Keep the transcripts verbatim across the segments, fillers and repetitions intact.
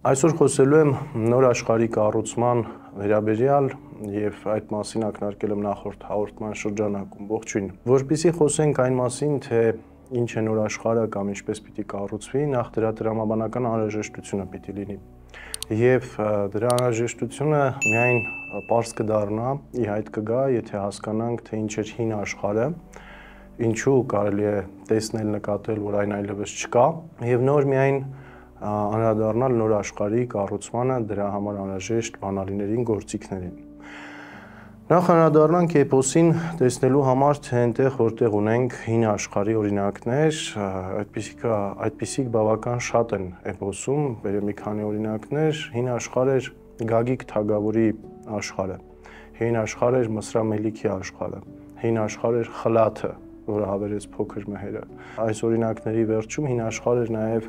Այսօր խոսելու եմ նոր աշխարհի կառուցման վերաբերյալ եւ այդ մասին ակնարկել եմ նախորդ հաղորդման շրջանակում։ Ողջույն։ Որպեսզի խոսենք այն մասին, թե ինչ է նոր աշխարհը կամ ինչպես պիտի կառուցվի, նախ դրա տրամաբանական անհրաժեշտությունը պիտի լինի։ Եվ դրա անհրաժեշտությունը միայն պարզ կդառնա, ի հայտ կգա, եթե հասկանանք, թե ինչ է հին աշխարհը, ինչու կարելի է տեսնել, նկատել, որ այն այլևս չկա, եւ նոր միայն անդրադառնալ նոր աշխարհի կառուցմանը, դրա համար անհրաժեշտ բանալիներին, գործիքներին։ Նախ անդրադառնանք էպոսին տեսնելու համար, թե այնտեղ որտեղ ունենք հին աշխարհի օրինակներ, այդպիսիք այդպիսիք բավական շատ են էպոսում, բերեմ մի քանի օրինակներ, հին աշխարհը Գագիկ Թագավորի աշխարհը, հին աշխարհը Մսրա Մելիքի աշխարհը, հին աշխարհը Խլաթը, որը հավերեց փոքր մհերը։ Այս օրինակների վերջում հին աշխարհը նաև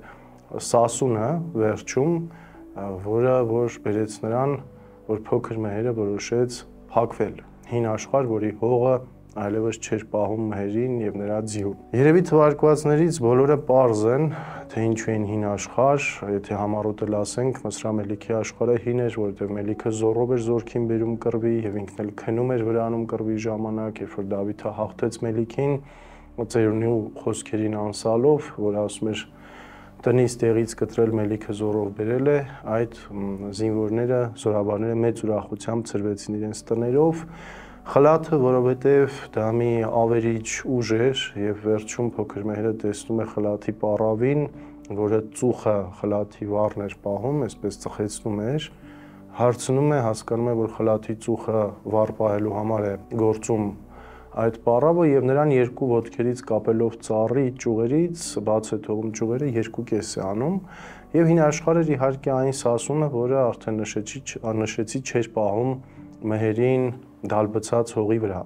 Սասունը վերջում, որը որ բերեց նրան, որ փոքր մհերը որոշեց փակվել, հին աշխարհ, որի հողը այլևս չէր պահում մհերին եւ նրա ձիուն։ Երևի թվարկվածներից բոլորը պարզ են, թե ինչու են հին աշխարհ, եթե համառոտել ասենք, Մսրա Մելիքի աշխարհը հին էր, որովհետեւ Մելիքը զոռով էր զորքին բերում կռվի եւ ինքն էլ քնում էր վրանում կռվի ժամանակ, երբ որ Դավիթը հաղթեց Մելիքին, ծերունի խոսքերին անսալով, որ ասում էր տնից տեղից կտրել Մելիքը զորով բերել է, այդ զինվորները, զորաբարները մեծ ուրախությամբ ծրվեցին իրենց տներով, Խլաթը, որովհետև դա մի ավերիչ ուժ էր եւ վերջում փոքր մհերը տեսնում է Խլաթի պառավին, որը ծուխը Խլաթի վառն էր պահում, այսպես ծխեցնում էր, հարցնում է, հասկանում է, որ Խլաթի ծուխը վառ պահելու համար է գործում այդ պառավը եւ նրան երկու ոտքերից կապելով ծառի ճյուղերից բաց է թողում ճյուղերը, երկու կես է անում եւ հին աշխարհը իհարկե այն Սասունը, որը արդեն նշեցի, նշեցի չէր պահում մհերին դալբցած հողի վրա։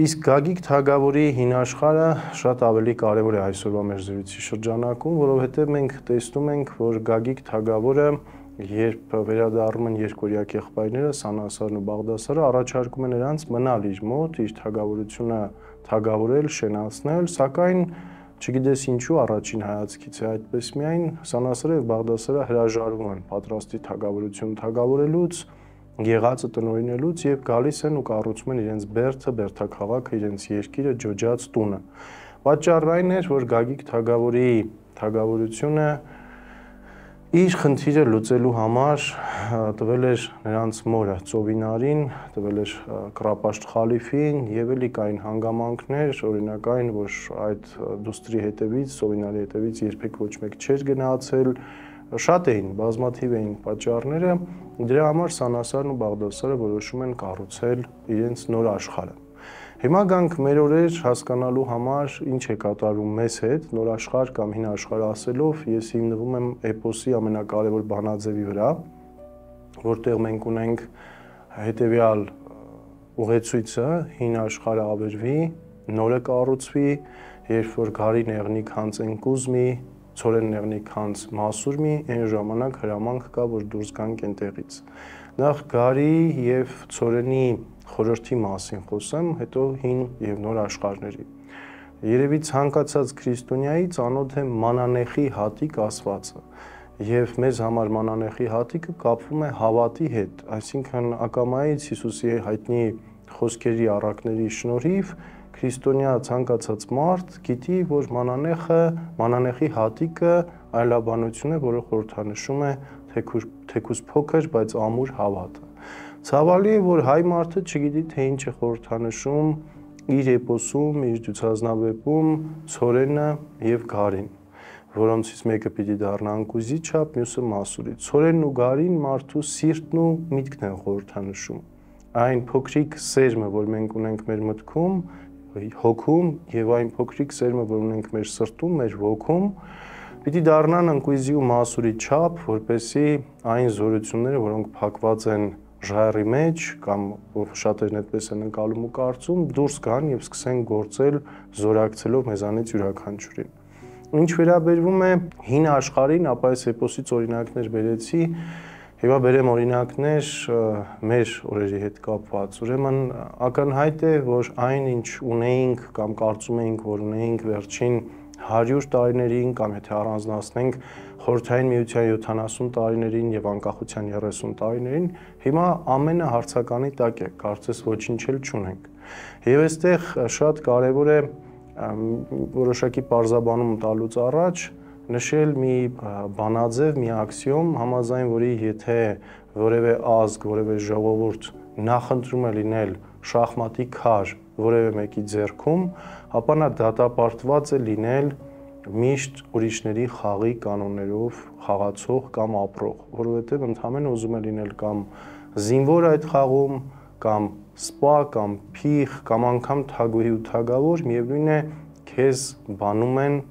Իսկ Գագիկ Թագավորի հին աշխարհը շատ ավելի կարեւոր է այսօրվա մեր զրույցի շրջանակում, որովհետեւ մենք տեսնում ենք, որ Գագիկ Թագավորը երբ վերադառնում են երկորյակ եղբայրները Սանասարն ու Բաղդասարը, առաջարկում են նրանց մնալ իր մոտ, իր թագավորությունը թագավորել, շենացնել, սակայն չգիտես ինչու առաջին հայացքից է այդպես միայն Սանասարը եւ Բաղդասարը հրաժարվում են պատրաստի թագավորություն թագավորելուց, եղածը տնօրինելուց եւ գալիս են ու կառուցում են իրենց բերդը, բերդաքաղաքը, իրենց երկիրը, ջոջած տունը։ Պատճառն այն էր, որ Գագիկ Թագավորի թագավորությունը իր խնդիրը լուծելու համար տվել էր նրանց մորը Ծովինարին, տվել էր Կրապաշտ Խալիֆին եւ էլի կային հանգամանքներ, օրինակ այն, որ այդ դուստրի հետևից, Ծովինարի հետևից երբեք ոչ մեկ չէր գնացել, շատ էին, բազմաթիվ էին պատճառները, դրա համար Սանասարն ու Բաղդասարը որոշում են կառուցել իրենց նոր աշխարհը։ Հիմա գանք մեր օրեր հասկանալու համար ինչ է կատարվում մեզ հետ, նոր աշխարհ կամ հին աշխարհ ասելով, ես հիմնվում եմ էպոսի ամենակարևոր բանաձևի վրա, որտեղ մենք ունենք հետևյալ ուղեցույցը, հին աշխարհը ավերվի, նորը կառուցվի, երբ որ գարի նեղնիկ հանձեն կուզմի, ցորեն նեղնիկ հանձ մասուրմի, այն ժամանակ հրամանք կա, որ դուրս գանք այնտեղից։ Նախ գարի եւ ցորենի խորհրդի մասին խոսեմ, հետո հին եւ նոր աշխարհների։ Երևի ցանկացած քրիստոնյայի ծանոթ է մանանեխի հատիկ ասվածը, եւ մեզ համար մանանեխի հատիկը կապվում է հավատի հետ, այսինքն ակամայից Հիսուսի հայտնի խոսքերի առակների շնորհիվ քրիստոնյա ցանկացած մարդ գիտի, որ մանանեխը, մանանեխի հատիկը այլաբանություն է, որը խորհրդանշում է թեկուզ փոքր, բայց ամուր հավատը։ Ցավալի է, որ հայ մարդը չգիտի, թե ինչ է խորհրդանշում իր էպոսում, իր ցուցազնավեպում ցորենը եւ գարին, որոնցից մեկը պիտի դառնա անկուզի չափ, մյուսը մասուրի։ Ցորենն ու գարին մարդու սիրտն ու միտքն են խորհրդանշում։ Այն փոքրիկ սերմը, որ մենք ունենք մեր մտքում, հոգում, եւ այն փոքրիկ սերմը, որ ունենք մեր սրտում, մեր ոգում, պիտի դառնան անկույզի ու մասուրի չափ, որպեսզի այն զորությունները, որոնք փակված են ժայռի մեջ կամ շատերն այդպես են ընկալում ու կարծում, դուրս գան եւ սկսեն գործել զորակցելով մեզանից յուրաքանչյուրին։ Ինչ վերաբերվում է հին աշխարհին, ապա այս էպոսից օրինակներ բերեցի, Եվա բերեմ օրինակներ մեր օրերի հետ կապված, ուրեմն ակնհայտ է, որ այն ինչ ունեինք կամ կարծում էինք, որ ունեինք վերջին հարյուր տարիներին կամ եթե առանձնացնենք Խորհրդային Միության յոթանասուն տարիներին եւ անկախության երեսուն տարիներին, հիմա ամենը հարցականի տակ է, կարծես ոչինչ էլ չունենք։ Եվ այստեղ շատ կարեւոր է որոշակի պարզաբանում տալուց առաջ նշել մի բանաձև, մի աքսիոմ, համաձայն որի եթե որևէ ազգ, որևէ ժողովուրդ նախընտրում է լինել շախմատի քար որևէ մեկի ձեռքում, ապա նա դատապարտված է լինել միշտ ուրիշների խաղի կանոններով խաղացող կամ ապրող, որովհետև ընդհանրապես ուզում է լինել կամ զինվոր այդ խաղում, կամ սպա, կամ փիղ, կամ անգամ թագուհի ու թագավոր, միևնույն է քեզ բանում են,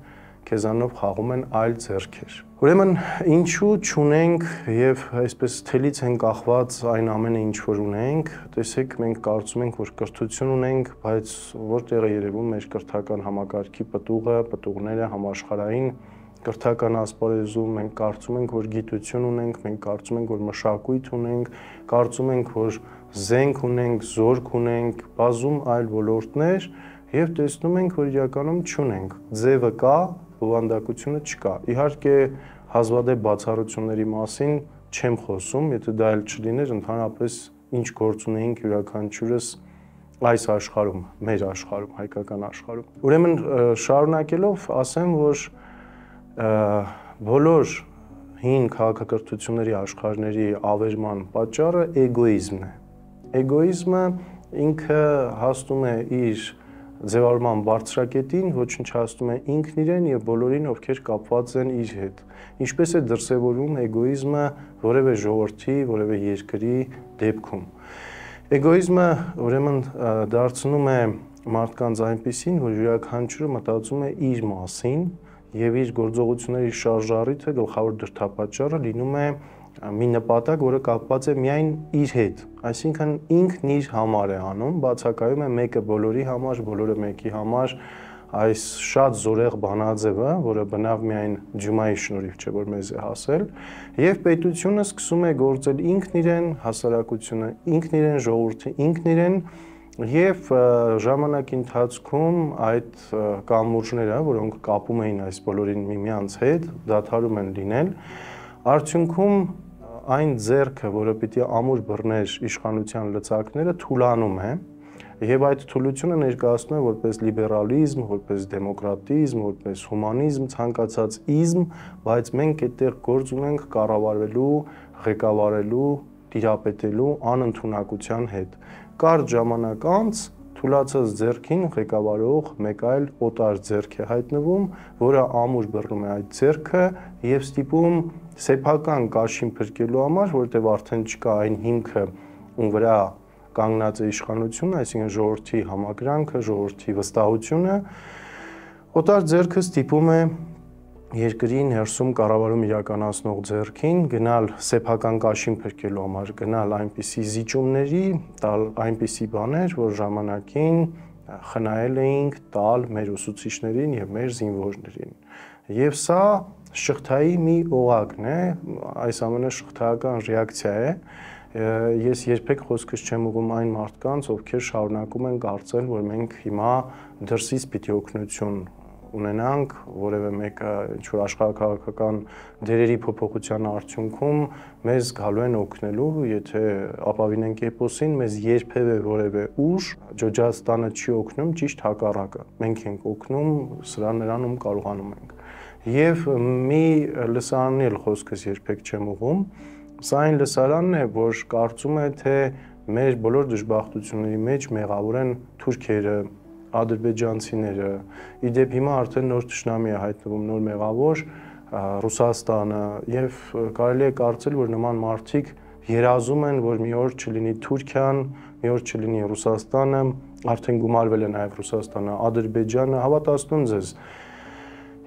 քեզանով խաղում են այլ ձեռքեր։ Ուրեմն ինչու չունենք եւ այսպես թելից են կախված այն ամենը ինչ որ ունենք, տեսեք մենք կարծում ենք որ կրթություն ունենք, բայց որտեղ է երևում մեր կրթական համակարգի պտուղը, պտուղները համաշխարհային կրթական ասպարեզում մենք կարծում ենք որ գիտություն ունենք, մենք կարծում ենք որ մշակույթ ունենք, կարծում ենք որ զենք ունենք, զորք ունենք, բազում այլ ոլորտներ եւ տեսնում ենք որ իրականում չունենք։ Ձևը կա, բովանդակությունը չկա։ Իհարկե հազվադեպ բացառությունների մասին չեմ խոսում, եթե դա էլ չլիներ, ընդհանրապես ինչ գործ ունեինք յուրաքանչյուրս այս աշխարհում, մեր աշխարհում, հայկական աշխարհում։ Ուրեմն շարունակելով ասեմ, որ բոլոր հին քաղաքակրթությունների աշխարհների ավերման պատճառը էգոիզմն է։ Էգոիզմը ինքը հասնում է իր ձևավորման բարձրակետին, ոչնչացնում է ինքն իրեն եւ բոլորին, ովքեր կապված են իր հետ։ Ինչպես է դրսևորվում էգոիզմը որևէ ժողովրդի, որևէ երկրի դեպքում։ Էգոիզմը ուրեմն դարձնում է մարդկանց այնպիսին, որ յուրաքանչյուրը մտածում է իր մասին եւ իր գործողությունների շարժառիթը, գլխավոր դրդապատճառը լինում է մի նպատակ, որը կապված է միայն իր հետ, այսինքն ինքն իր համար է անում, բացակայում է մեկը բոլորի համար, բոլորը մեկի համար, այս շատ զորեղ բանաձևը, որը բնավ միայն ջումայի շնորհիվ չէ, որ մեզ է հասել, եւ պետությունը սկսում է գործել ինքն իրեն, հասարակությունը ինքն իրեն, ժողովուրդը ինքն իրեն, եւ ժամանակի ընթացքում այդ կամուրջները, որոնք կապում էին այս բոլորին միմյանց հետ, դադարում են լինել, արդյունքում այն ձեռքը, որը պիտի ամուր բռներ իշխանության լծակները, թուլանում է եւ այդ թուլությունը ներկայացնում է որպես լիբերալիզմ, որպես դեմոկրատիզմ, որպես հումանիզմ, ցանկացած իզմ, բայց մենք այդտեղ գործ ունենք կառավարելու, ղեկավարելու, տիրապետելու անընդունակության հետ։ Կարճ ժամանակ անց թուլացած ձեռքին ղեկավարող մեկ այլ օտար ձեռք է հայտնվում, որը ամուր բռնում է այդ ձեռքը եւ ստիպում սեփական կաշին փրկելու համար, որտեղ արդեն չկա այն հիմքը, ում վրա կանգնած է իշխանությունը, այսինքն ժողովրդի համակրանքը, ժողովրդի վստահությունը, օտար ձեռքը ստիպում է երկրի ներսում կառավարում իրականացնող ձեռքին գնալ սեփական կաշին փրկելու համար, գնալ այնպիսի զիջումների, տալ այնպիսի բաներ, որ ժամանակին խնայել էինք տալ մեր ուսուցիչներին եւ մեր զինվորներին։ Եվ սա շղթայի մի օղակն է, այս ամենը շղթայական ռեակցիա է։ Ես երբեք խոսքս չեմ ուղղում այն մարդկանց, ովքեր շարունակում են կարծել, որ մենք հիմա դրսից պիտի օգնություն ունենանք, որևէ մեկը ինչ-որ աշխարհակաղակական դերերի փոփոխության արդյունքում մեզ գալու են օգնելու, եթե ապավինենք էպոսին, մեզ երբևէ որևէ ուժ ջոջաստանը չի օգնում, ճիշտ հակառակը։ Մենք ենք օգնում սրա նրանում կարողանում ենք։ Եվ մի լսարանն էլ խոսքս երբեք չեմ ուղղում, սա այն լսարանն է, որ կարծում է, թե մեր բոլոր դժբախտությունների մեջ մեղավոր են թուրքերը, ադրբեջանցիները, իդեպ հիմա արդեն նոր թշնամի է հայտնվում, նոր մեղավոր Ռուսաստանը եւ կարելի է կարծել, որ նման մարդիկ երազում են, որ մի օր չլինի Թուրքիան, մի օր չլինի Ռուսաստանը, արդեն գումարվել է նաեւ Ռուսաստանը, Ադրբեջանը, հավատացնում ձեզ,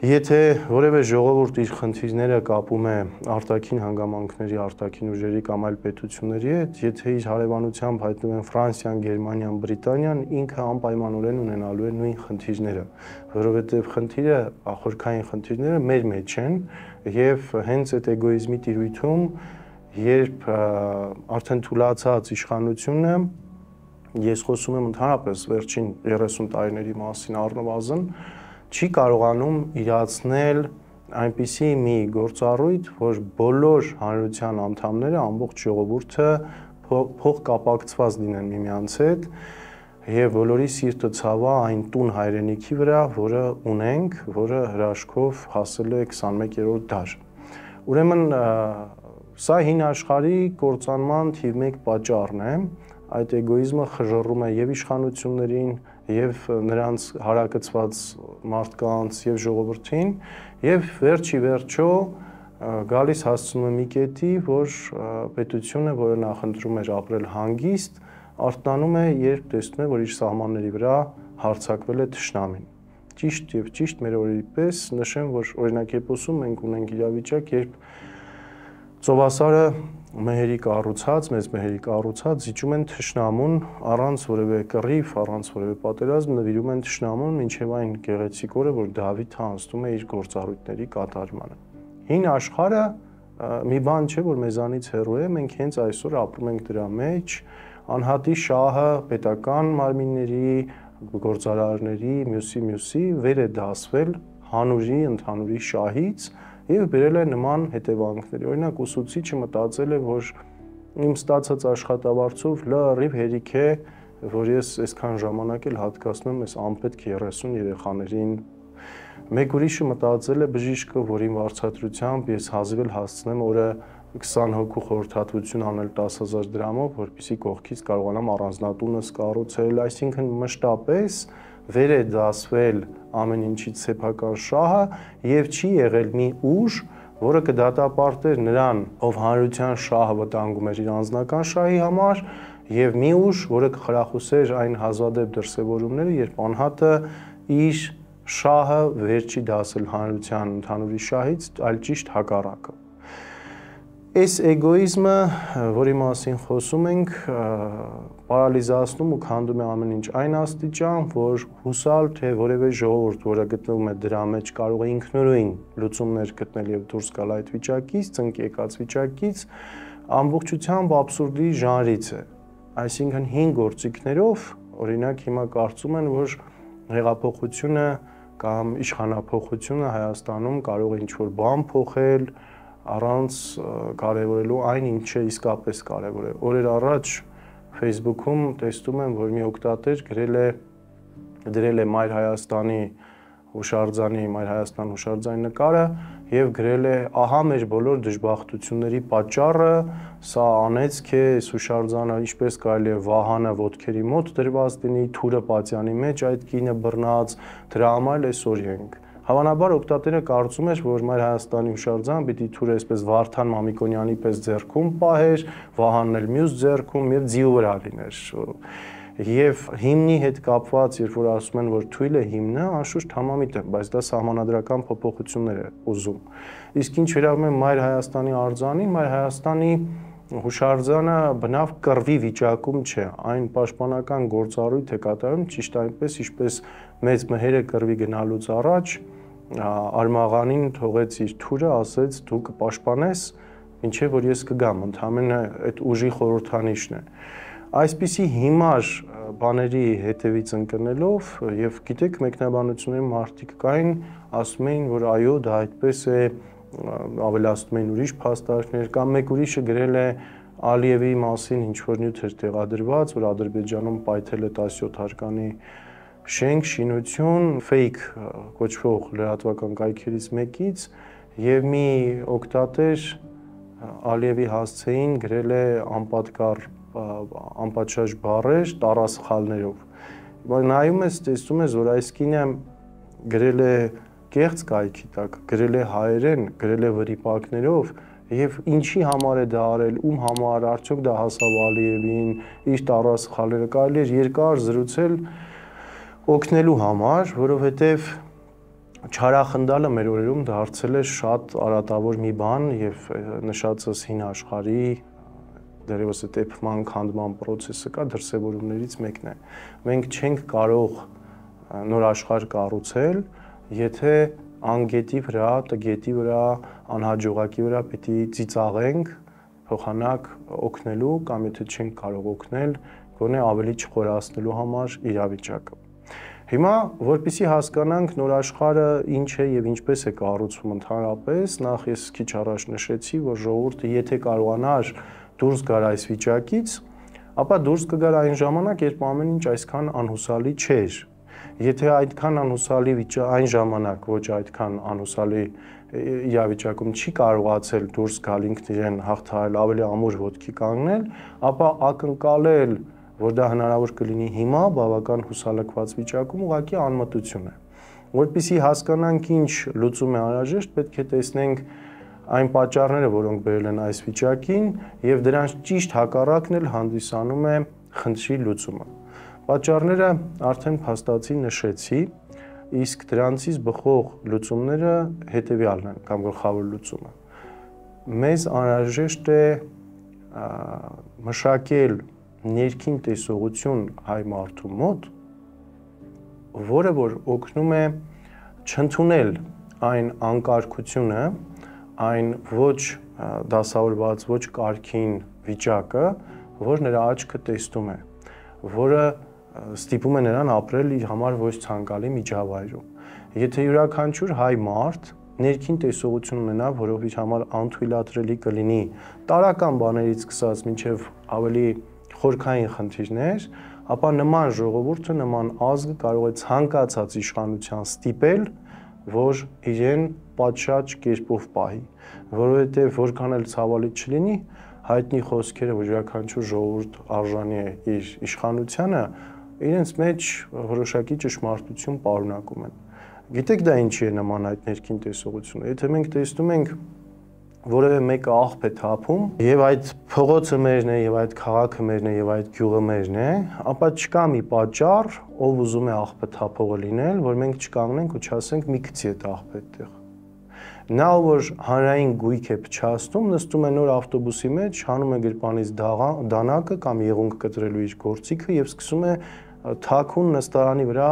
եթե որևէ ժողովուրդ իր խնդիրները կապում է արտաքին հանգամանքների, արտաքին ուժերի կամ այլ պետությունների հետ, եթե իր հարևանությամբ հայտնվում են Ֆրանսիան, Գերմանիան, Բրիտանիան, ինքը անպայմանորեն ունենալու է նույն խնդիրները, որովհետև խնդիրը, խորքային խնդիրները մեր մեջ են եւ հենց այդ էգոիզմի տիրույթում, երբ արդեն թուլացած իշխանությունը, ես խոսում եմ ընդհանրապես վերջին երեսուն տարիների մասին առնվազն, չի կարողանում իրացնել այնպիսի մի գործառույթ, որ բոլոր հանրության անդամները, ամբողջ ժողովուրդը փոխկապակցված լինեն միմյանց հետ եւ բոլորի սիրտը ցավա այն տուն հայրենիքի վրա, որը ունենք, որը հրաշքով հասել է քսանմեկերորդ դար։ Ուրեմն սա հին աշխարհի կործանման թիվ մեկ պատճառն է, այդ էգոիզմը խժռում է եւ իշխանություններին, եւ նրանց հարակցված մարդկանց եւ ժողովրդին, եւ վերջի վերջո գալիս հասցնում է մի կետի, որ պետությունը, որը նախընտրում էր ապրել հանգիստ, արտանում է, երբ տեսնում է, որ իր սահմանների վրա հարձակվել է թշնամին։ Ճիշտ եւ ճիշտ մեր օրերի պես նշեմ, որ օրինակ Եփոսում մենք ունենք իրավիճակ, երբ ծովասարը մեհերի կառուցած, մեծ մեհերի կառուցած զիջում են թշնամուն առանց որևէ կռիվ, առանց որևէ պատերազմ նվիրում են թշնամուն մինչև այն գեղեցիկ օրը, որ Դավիթը անցնում է իր գործառույթների կատարմանը։ Հին աշխարհը մի բան չէ, որ մեզանից հեռու է, մենք հենց այսօր ապրում ենք դրա մեջ, անհատի շահը պետական մարմինների, գործարարների, մյուսի մյուսի վեր է դասվել հանուրի, ընդհանուրի շահից եւ բերել է նման հետևանքների։ Օրինակ ուսուցիչը մտածել է, որ իմ ստացած աշխատավարձով լրիվ հերիք է, որ ես այսքան ժամանակ էլ հատկացնում եմ այս անպետք երեսուն երեխաներին։ Մեկ ուրիշը մտածել է բժիշկը, որ իմ վարձատրությամբ ես հազիվ էլ հասցնեմ օրը քսան հոգու խորհրդատվություն անել տասը հազար դրամով, որպեսզի կողքից կարողանամ առանձնատունս կառուցել, այսինքն մշտապես վեր է դասվել ամեն ինչից սեփական շահը եւ չի եղել մի ուժ, որը կդատապարտեր նրան, ով հանրության շահը վտանգում էր իր անձնական շահի համար, եւ մի ուժ, որը կխրախուսեր այն հազվադեպ դրսևորումները, երբ անհատը իր շահը վեր չի դասել հանրության ընդհանուրի շահից, այլ ճիշտ հակառակը։ Այս էգոիզմը, որի մասին խոսում ենք, պարալիզացնում ու քանդում է ամեն ինչ այն աստիճան, որ հուսալ թե որևէ ժողովուրդ, որը գտնվում է դրա մեջ, կարող է ինքնուրույն լուծումներ գտնել եւ դուրս գալ այդ վիճակից, ծնկեկած վիճակից, ամբողջությամբ աբսուրդի ժանրից է։ Այսինքն հին գործիքներով, օրինակ հիմա կարծում են, որ հեղափոխությունը կամ իշխանափոխությունը Հայաստանում կարող է ինչ-որ բան փոխել առանց կարևորելու այն, ինչը իսկապես կարևոր է։ Օրեր առաջ Facebook-ում տեսնում եմ, որ մի օգտատեր գրել է դրել է Մայր Հայաստանի հուշարձանի, Մայր Հայաստան հուշարձանի նկարը եւ գրել է ահա մեր բոլոր դժբախտությունների պատճառը, սա անեծք է, այս հուշարձանը ինչպես կարելի է Վահանը ոտքերի մոտ դրված լինի, թուրը պատյանի մեջ այդ կինը բռնած, դրա համար այսօր ենք։ Հավանաբար օգտատերը կարծում էր, որ Մայր Հայաստանի հուշարձանը պիտի թուրը այսպես Վարդան Մամիկոնյանի պես ձեռքում պահեր, Վահանն էլ մյուս ձեռքում եւ ձիու վրա լիներ։ Եվ հիմնի հետ կապված, երբ որ ասում են, որ թույլ է հիմնը, անշուշտ համամիտ է, բայց դա սահմանադրական փոփոխություններ է ուզում։ Իսկ ինչ վերաբերում է Մայր Հայաստանի արձանին, Մայր Հայաստանի հուշարձանը բնավ կռվի վիճակում չէ, այն պաշտպանական գործառույթ է կատարում ճիշտ այնպես, ինչպես մեծ մհերը կռվի գնալուց առաջ Արմաղանին թողեց իր թուրը, ասեց դու կպաշտպանես, մինչև որ ես կգամ, ընդհանրապես այդ ուժի խորհրդանիշն է։ Այսպիսի հիմար բաների հետևից ընկնելով եւ գիտեք մեկնաբանությունների մարդիկ կային, ասում էին, որ այո, դա այդպես է, ավելացնում էին ուրիշ փաստարկներ, կամ մեկ ուրիշը գրել է Ալիևի մասին ինչ որ նյութ էր տեղադրված, որ Ադրբեջանում պայթել է տասնյոթ հարկանի շենք, շինություն, fake կոչվող լրատվական կայքերից մեկից եւ մի օգտատեր Ալիևի հասցեին գրել է անպատկառ անպատշաճ բառեր տառասխալներով։ Բայց նայում ես, տեսնում ես, որ այս կինը գրել է կեղծ կայքի տակ, գրել է հայերեն, գրել է վրիպակներով եւ ինչի համար է դա արել, ում համար, արդյոք դա հասավ Ալիևին, իր տառասխալները կարելի է երկար զրուցել օգնելու համար, որովհետեւ չարախնդալը մեր օրերում դարձել է շատ արատավոր մի բան եւ նշածս հին աշխարհի դերևս այդ էփման քանդման process-ը կա դրսևորումներից մեկն է։ Մենք չենք կարող նոր աշխարհ կառուցել, եթե անգետի վրա, տգետի վրա, անհաջողակի վրա պիտի ծիծաղենք, փոխանակ օգնելու կամ եթե չենք կարող օգնել, գոնե ավելի չխորացնելու համար իրավիճակը։ Հիմա, որպեսզի հասկանանք նոր աշխարհը ինչ է եւ ինչպես է կառուցվում ընդհանրապես, նախ ես քիչ առաջ նշեցի, որ ժողովուրդը եթե կարողանար դուրս գար այս վիճակից, ապա դուրս կգար այն ժամանակ, երբ ամեն ինչ այսքան անհուսալի չէր։ Եթե այդքան անհուսալի այն ժամանակ ոչ այդքան անհուսալի իրավիճակում չի կարողացել դուրս գալ ինքն իրեն հաղթահարել, ավելի ամուր ոտքի կանգնել, ապա ակնկալել, որ դա հնարավոր կլինի հիմա բավական հուսալքված վիճակում ուղղակի անմտություն է։ Որպեսզի հասկանանք ինչ լուծում է անհրաժեշտ, պետք է տեսնենք այն պատճառները, որոնք բերել են այս վիճակին, եւ դրանց ճիշտ հակառակն էլ հանդիսանում է խնդրի լուծումը։ Պատճառները արդեն փաստացի նշեցի, իսկ դրանցից բխող լուծումները հետեւյալն են կամ գլխավոր լուծումը։ Մեզ անհրաժեշտ է մշակել ներքին տեսողություն հայ մարդու մոտ, որը որ օգնում է չընդունել այն անկարգությունը, այն ոչ դասավորված, ոչ կարգին վիճակը, որ նրա աչքը տեսնում է, որը ստիպում է նրան ապրել իր համար ոչ ցանկալի միջավայրում։ Եթե յուրաքանչյուր հայ մարդ ներքին տեսողություն ունենա, որով իր համար անթույլատրելի կլինի տարական բաներից սկսած մինչև ավելի խորքային խնդիրներ, ապա նման ժողովուրդը, նման ազգը կարող է ցանկացած իշխանության ստիպել, որ իրեն պատշաճ կերպով պահի, որովհետև որքան էլ ցավալի չլինի, հայտնի խոսքերը, որ յուրաքանչյուր ժողովուրդ արժանի է իր իշխանությանը, իրենց մեջ որոշակի ճշմարտություն պարունակում են։ Գիտեք դա ինչի է նման այդ ներքին տեսողությունը։ Եթե մենք տեսնում ենք որևէ մեկը աղբ է թափում, եւ այդ փողոցը մերն է, եւ այդ քաղաքը մերն է, եւ այդ գյուղը մերն է, ապա չկա մի պատճառ, ով ուզում է աղբը թափողը լինել, որ մենք չկանգնենք ու չասենք մի գցի այդ աղբը այդտեղ։ Նա որ հանրային գույք է փչացնում, նստում է նոր ավտոբուսի մեջ, հանում է գրպանից դանակը կամ եղունգ կտրելու իր գործիքը եւ սկսում է թաքուն նստարանի վրա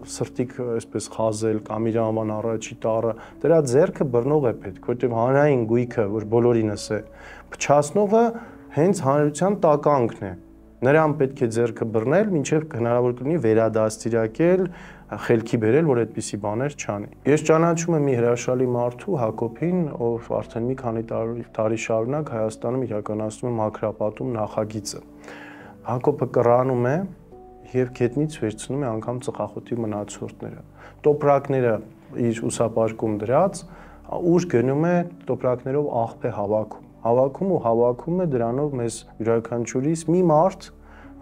սրտիկ այսպես խազել կամ իր աման առաջի տառը, դրա ձեռքը բռնող է պետք, որտեղ հանրային գույքը, որ բոլորինս է, փչացնողը հենց հանրության տականքն է։ Նրան պետք է ձեռքը բռնել, մինչև հնարավոր կլինի վերադաստիարակել, խելքի բերել, որ այդպիսի բաներ չանի։ Ես ճանաչում եմ մի հրաշալի մարդու Հակոբին, ով արդեն մի քանի տարի շարունակ Հայաստանում իրականացնում է մաքրապատում նախագիծը։ Հակոբը կռանում է եւ գետնից վերցնում է անգամ ծխախոտի մնացորդները։ Տոպրակները իր ուսապարկում դրած, ուր գնում է տոպրակներով աղբ է հավաքում։ Հավաքում ու հավաքում է դրանով մեզ յուրաքանչյուրիս մի մարդ,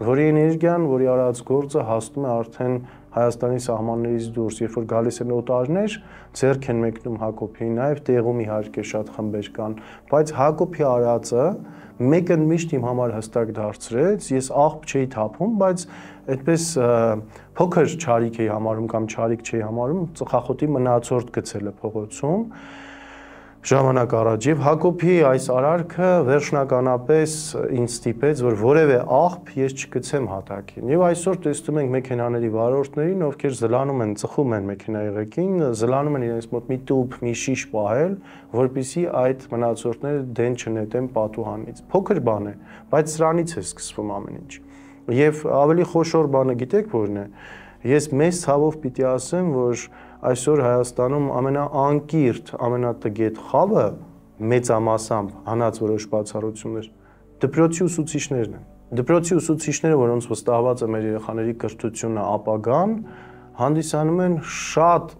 որի էներգիան, որի արած գործը հասնում է արդեն Հայաստանի սահմաններից դուրս, երբ որ գալիս են օտարներ, ձեռք են մեկնում Հակոբին, նաև տեղում իհարկե շատ խմբեր կան, բայց Հակոբի արածը մեկը միշտ իմ համար հստակ դարձրեց, ես աղբ չէի թափում, բայց այդպես փոքր չարիք էի համարում կամ չարիք չէի համարում, ծխախոտի մնացորդ գցելը փողոցում ժամանակ առաջ եւ Հակոբի այս արարքը վերջնականապես ինձ ստիպեց, որ որևէ աղբ ես չգցեմ հատակին։ Եվ այսօր տեսնում ենք մեքենաների վարորդներին, ովքեր զլանում են, ծխում են մեքենայի ղեկին, զլանում են իրենց մոտ մի տուփ, մի շիշ պահել, որպեսզի այդ մնացորդները դեն չնետեն պատուհանից։ Փոքր բան է, բայց սրանից է սկսվում ամեն ինչ։ Եվ ավելի խոշոր բանը գիտեք որն է։ Ես մեծ ցավով պիտի ասեմ, որ այսօր Հայաստանում ամենաանկիրթ, ամենատգետ խավը մեծամասամբ հանած որոշ բացառություններ դպրոցի ուսուցիչներն են։ Դպրոցի ուսուցիչները, որոնց վստահված է մեր երեխաների կրթությունը, ապագան, հանդիսանում են շատ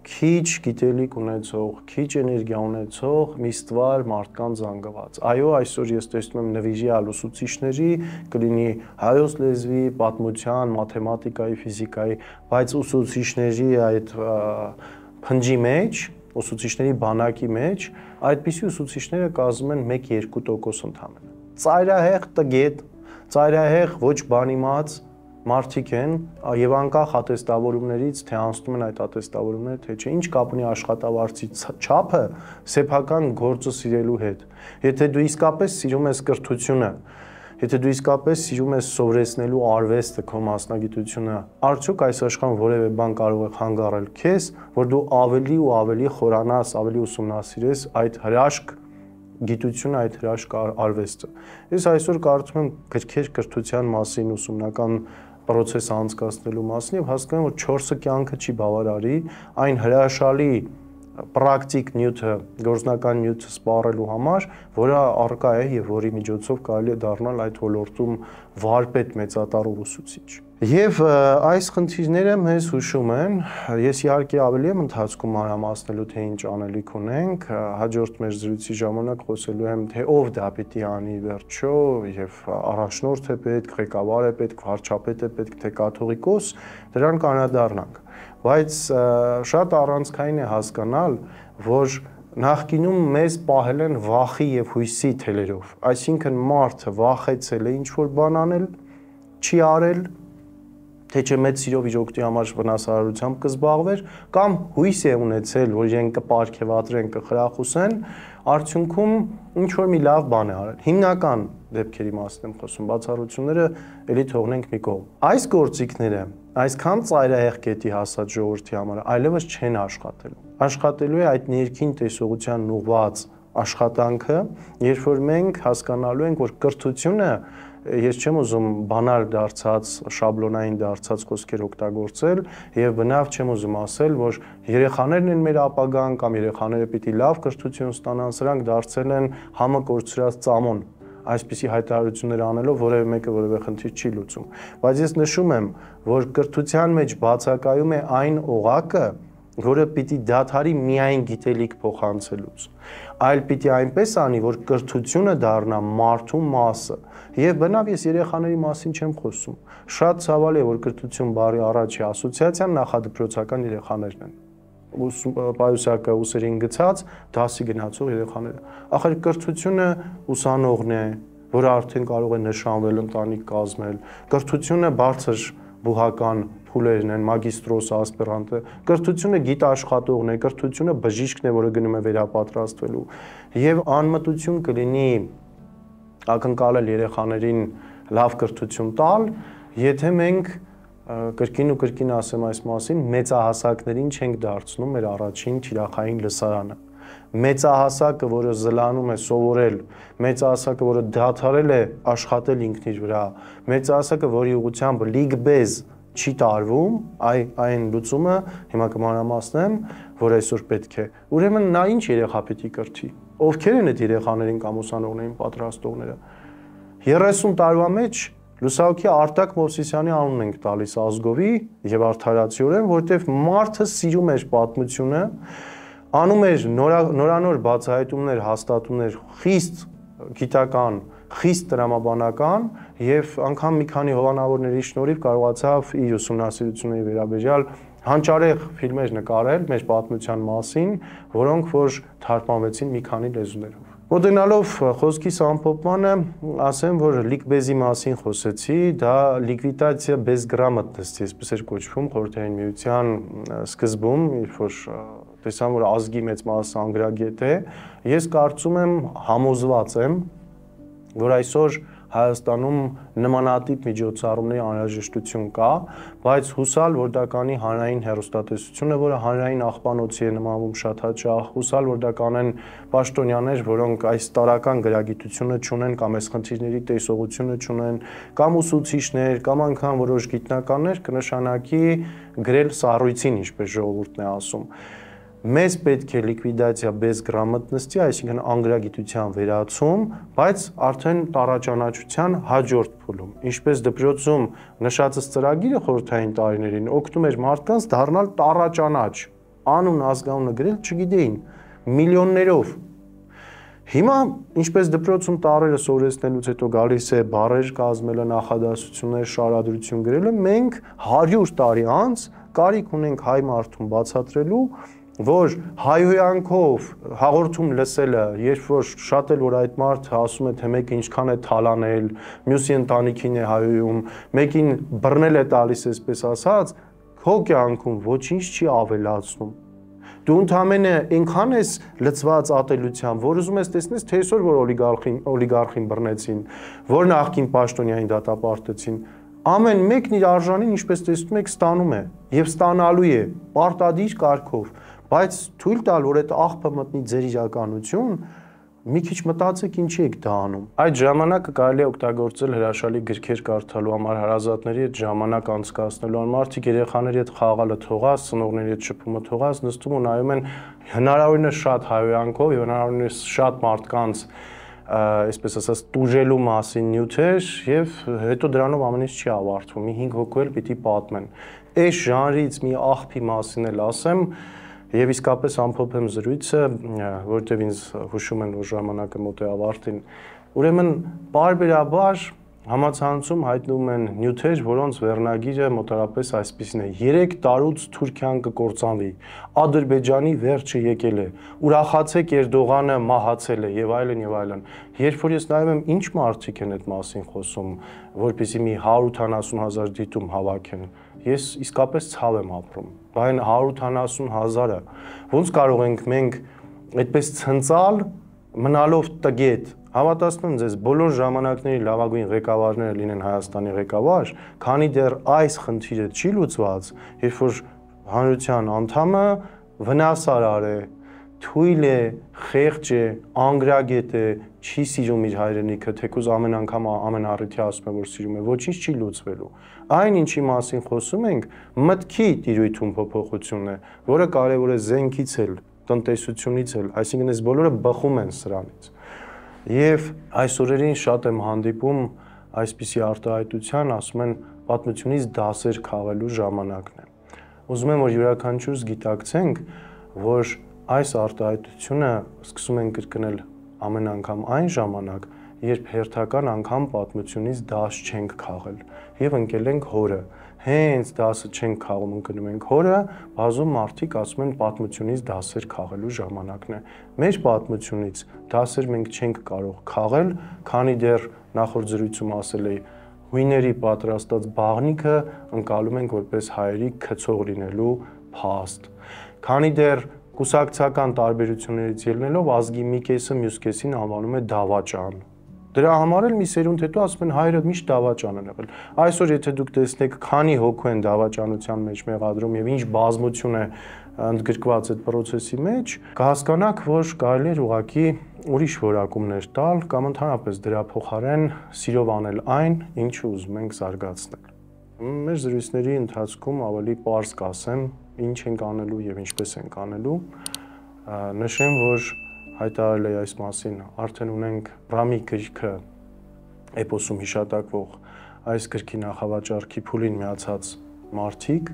քիչ գիտելիք ունեցող, քիչ էներգիա ունեցող մի ստվար մարդկանց զանգված։ Այո, այսօր ես տեսնում եմ նվիրյալ ուսուցիչների, կլինի հայոց լեզվի, պատմության, մաթեմատիկայի, ֆիզիկայի, բայց ուսուցիչների այդ փնջի մեջ, ուսուցիչների բանակի մեջ, այդպիսի ուսուցիչները կազմում են մեկ-երկու տոկոս ընդամենը։ Ծայրահեղ տգետ, ծայրահեղ ոչ բանիմաց մարդիկ են եւ անկախ ատեստավորումներից թե անցնում են այդ ատեստավորումները թե չէ, ինչ կապ ունի աշխատավարձի չափը սեփական գործը սիրելու հետ։ Եթե դու իսկապես սիրում ես կրթությունը, եթե դու իսկապես սիրում ես սովորեցնելու արվեստը, քո մասնագիտությունը, արդյոք այս աշխարհում որևէ բան կարող է խանգարել քեզ, որ դու ավելի ու ավելի խորանաս, ավելի ուսումնասիրես այդ հրաշք գիտությունը, այդ հրաշք արվեստը։ Ես այսօր կարծում եմ գրքեր կրթության մասին, ուսումնական process անցկացնելու մասին եւ հասկանում որ չորսը կյանքը չի բավարարի այն հրաշալի պրակտիկ նյութը, գործնական նյութը սպառելու համար, որը առկա է եւ որի միջոցով կարելի է դառնալ այդ ոլորտում վարպետ մեծատառ ուսուցիչ։ Եվ այս խնդիրները մեզ հուշում են, ես իհարկե ավելի եմ ընթացքում մանրամասնելու թե ինչ անելիք ունենք, հաջորդ մեր զրույցի ժամանակ խոսելու եմ թե ով դա պիտի անի վերջո եւ առաջնորդ է պետք, ղեկավար է պետք, վարչապետ է պետք, թե կաթողիկոս, դրան կանադառնանք։ Բայց շատ առանցքային է հասկանալ, որ նախկինում մեզ պահել են վախի եւ հույսի թելերով, այսինքն մարդը վախեցել է ինչ-որ բան անել, չի արել, թե չէ մեծ սիրով իր օգտի համար վնասարարությամբ կզբաղվեր, կամ հույս է ունեցել, որ իրեն կպարգևատրեն, կխրախուսեն, արդյունքում ինչ-որ մի լավ բան է արել։ Հիմնական դեպքերի մասին եմ խոսում, բացառությունները էլի թողնենք մի կողմ։ Այս գործիքները այսքան ծայրահեղ կետի հասած ժողովրդի համար այլևս չեն աշխատելու։ Աշխատելու է այդ ներքին տեսողության ուղղված աշխատանքը, երբ որ մենք հասկանալու ենք, որ կրթությունը, ես չեմ ուզում բանալ դարձած, շաբլոնային դարձած խոսքեր օգտագործել եւ բնավ չեմ ուզում ասել, որ երեխաներն են մեր ապագան կամ երեխաները պիտի լավ կրթություն ստանան, սրանք դարձել են համը կորցրած ծամոն, այսպիսի հայտարարություններ անելով որևէ մեկը որևէ խնդիր չի լուծում, բայց ես նշում եմ, որ կրթության մեջ բացակայում է այն օղակը, որը պիտի դադարի միայն գիտելիք փոխանցելուց, այլ պիտի այնպես անի, որ կրթությունը դառնա մարդու մասը։ Եվ բնավ ես երեխաների մասին չեմ խոսում։ Շատ ցավալի է, որ կրթություն բառի առաջի ասոցիացիան նախադպրոցական երեխաներն են։ Պայուսակը ուսերին գցած, դասի գնացող երեխաները։ Ախր կրթությունը ուսանողն է, որը արդեն կարող է նշանվել, ընտանիք կազմել։ Կրթությունը բարձր բուհական փուլերն են, մագիստրոս, ասպիրանտը, կրթությունը գիտաշխատողն է, կրթությունը բժիշկն է, որը գնում է վերապատրաստվելու։ Եվ անմտություն կլինի ակնկալել երեխաներին լավ կրթություն տալ, եթե մենք կրկին ու կրկին ասեմ այս մասին, մեծահասակներին չենք դարձնում մեր առաջին թիրախային լսարանը։ Մեծահասակը, որը զլանում է սովորել, մեծահասակը, որը դադարել է աշխատել ինքն իր վրա, մեծահասակը, որի ուղղությամբ լիգբեզ չի տարվում, այն լուծումը հիմա կմանրամասնեմ, որ այսօր պետք է։ Ուրեմն նա ինչ երեխա պիտի կրթի։ Ովքեր են այդ երեխաներին կամ ուսանողներին պատրաստողները։ երեսուն տարվա մեջ լուսահոգի Արտակ Մովսիսյանի անունն ենք տալիս ազգովի եւ արդարացիորեն, որտեղ մարդը սիրում էր պատմությունը, անում էր նորանոր բացահայտումներ, հաստատումներ, խիստ գիտական, խիստ տրամաբանական եւ անգամ մի քանի հովանավորների շնորհիվ կարողացավ իր ուսումնասիրությունների վերաբերյալ հանճարեղ ֆիլմեր նկարել մեր պատմության մասին, որոնք որ թարգմանվեցին մի քանի լեզուներով։ Մոտենալով խոսքիս ամփոփմանը, ասեմ, որ լիկբեզի մասին խոսեցի, դա լիկվիդացիա без грамотности, այսպես էր կոչվում Խորհրդային Միության սկզբում, երբ որ տեսան, որ ազգի մեծ մասը անգրագետ է, ես կարծում եմ, համոզված եմ, որ այսօր Հայաստանում նմանատիպ միջոցառումների անհրաժեշտություն կա, բայց հուսալ, որ դա կանի հանրային հեռուստատեսությունը, որը հանրային աղբանոցի է նմանվում շատ հաճախ, հուսալ, որ դա կանեն պաշտոնյաներ, որոնք այս տարական գրագիտությունը չունեն կամ այս խնդիրների տեսողությունը չունեն, կամ ուսուցիչներ, կամ անգամ որոշ գիտնականներ, կնշանակի գրել սառույցին, ինչպես ժողովուրդն է ասում։ Մեզ պետք է լիկվիդացիա без грамотности, այսինքն անգրագիտության վերացում, բայց արդեն տարաճանաչության հաջորդ փուլում, ինչպես դպրոցում նշածս ծրագիրը խորհրդային տարիներին օգնում էր մարդկանց դառնալ տարաճանաչ, անուն ազգանունը գրել չգիտեին, միլիոններով։ Հիմա, ինչպես դպրոցում տառերը սովորեցնելուց հետո գալիս է բառեր կազմելը, նախադասություններ, շարադրություն գրելը, մենք հարյուր տարի անց կարիք ունենք հայ մարդուն բացատրելու, որ հայհոյանքով հաղորդում լսելը, երբ որ շատ էլ որ այդ մարդը ասում է, թե մեկը ինչքան է թալանել, մյուսի ընտանիքին է հայհոյում, մեկին բռնել է տալիս, այսպես ասած, քո կյանքում ոչինչ չի ավելացնում։ Դու ընդամենը այնքան ես լծված ատելությամբ, որ ուզում ես տեսնես, թե այսօր որ օլիգարխին, օլիգարխին բռնեցին, որ նախկին պաշտոնյային դատապարտեցին, ամեն մեկն իր արժանին, ինչպես տեսնում եք, ստանում է եւ ստանալու է պարտադիր կարգով, բայց թույլ տալ, որ այդ աղբը մտնի ձեր իրականություն, մի քիչ մտածեք ինչի եք դա անում։ Այդ ժամանակը կարելի է օգտագործել հրաշալի գրքեր կարդալու համար, հարազատների հետ ժամանակ անցկացնելու համար, մարդիկ երեխաների հետ խաղալը թողած, ծնողների հետ շփումը թողած, նստում ու նայում են հնարավորինս շատ հայհոյանքով եւ հնարավորինս շատ մարդկանց այսպես ասած տուժելու մասին նյութեր եւ հետո դրանով ամեն ինչ չի ավարտվում։ Մի հինգ հոգու էլ պիտի պատմեն։ Այս ժանրից մի աղբի մասին էլ ասեմ եւ իսկապես ամփոփեմ զրույցը, որտեղ ինձ հուշում են, որ ժամանակը մոտ է ավարտին։ Ուրեմն բարբերաբար համացանցում հայտնվում են նյութեր, որոնց վերնագիրը մոտարապես այսպիսին է. երեք տարուց Թուրքիան կկործանվի, Ադրբեջանի վերջը եկել է, ուրախացեք Էրդողանը մահացել է եւ այլն եւ այլն։ Երբ որ ես նայում եմ ինչ մարդիկ են այդ մասին խոսում, որպեսզի մի հարյուր ութանասուն հազար դիտում հավաքեն, ես իսկապես ցավ եմ ապրում։ Բայց հարյուր ութանասուն հազարը ոնց կարող ենք մենք այդպես ցնցալ մնալով տգետ։ Հավատացնում եմ ձեզ, բոլոր ժամանակների լավագույն ղեկավարները լինեն Հայաստանի ղեկավար, քանի դեռ այս խնդիրը չի լուծված, երբ որ հանրության անդամը վնասարար է, թույլ է, խեղճ է, անգրագետ է, չի սիրում իր հայրենիքը, թեկուզ ամեն անգամ ամեն առիթի ասում է, որ սիրում է, ոչինչ չի լուծվելու։ Այն ինչի մասին խոսում ենք, մտքի տիրույթում փոփոխությունն է, որը կարևոր է զենքից էլ, տնտեսությունից էլ, այսինքն այս բոլորը բխում են սրանից։ Եվ այս օրերին շատ եմ հանդիպում այսպիսի արտահայտության, ասում են պատմությունից դասեր քաղելու ժամանակն է։ Ուզում եմ, որ յուրաքանչյուրս գիտակցենք, որ այս արտահայտությունը սկսում են կրկնել ամեն անգամ այն ժամանակ, երբ հերթական անգամ պատմությունից դաս չենք քաղել եւ ընկել ենք հորը։ Հենց դասը չենք քաղում, ընկնում ենք հորը, բազում մարդիկ ասում են պատմությունից դասեր քաղելու ժամանակն է։ Մեր պատմությունից դասեր մենք չենք կարող քաղել, քանի դեռ նախորդ զրույցում ասել էի, հույների պատրաստած բաղնիքը ընկալում ենք որպես հայերի քցող լինելու փաստ։ Քանի դեռ կուսակցական տարբերություններից ելնելով ազգի մի կեսը մյուս կեսին անվանում է դավաճան։ Դրա համար էլ մի սերունդ հետո ասում են հայրը միշտ դավաճան են եղել։ Այսօր եթե դուք տեսնեք քանի հոգու են դավաճանության մեջ մեղադրում եւ ինչ բազմություն է ընդգրկված այդ process-ի մեջ, կհասկանաք, որ կարելի է ուղղակի ուրիշ որակումներ տալ կամ ընդհանրապես դրա փոխարեն սիրով անել այն, ինչը ուզում ենք զարգացնել։ Մեր զրույցների ընթացքում ավելի պարզ կասեմ, ինչ ենք անելու եւ ինչպես ենք անելու։ Նշեմ, որ հայտարարել է այս մասին, արդեն ունենք Ռամի գրքը էպոսում հիշատակվող այս գրքի նախավաճառքի փուլին միացած մարդիկ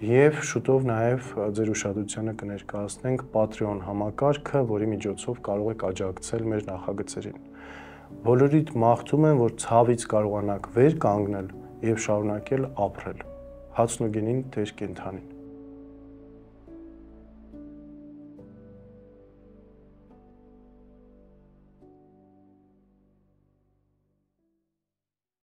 եւ շուտով նաեւ ձեր ուշադրությանը կներկայացնենք Patreon համակարգը, որի միջոցով կարող եք աջակցել մեր նախագծերին։ Բոլորիդ մաղթում եմ, որ ցավից կարողանաք վեր կանգնել եւ շարունակել ապրել։ Հացն ու գինին դեր կենթանին։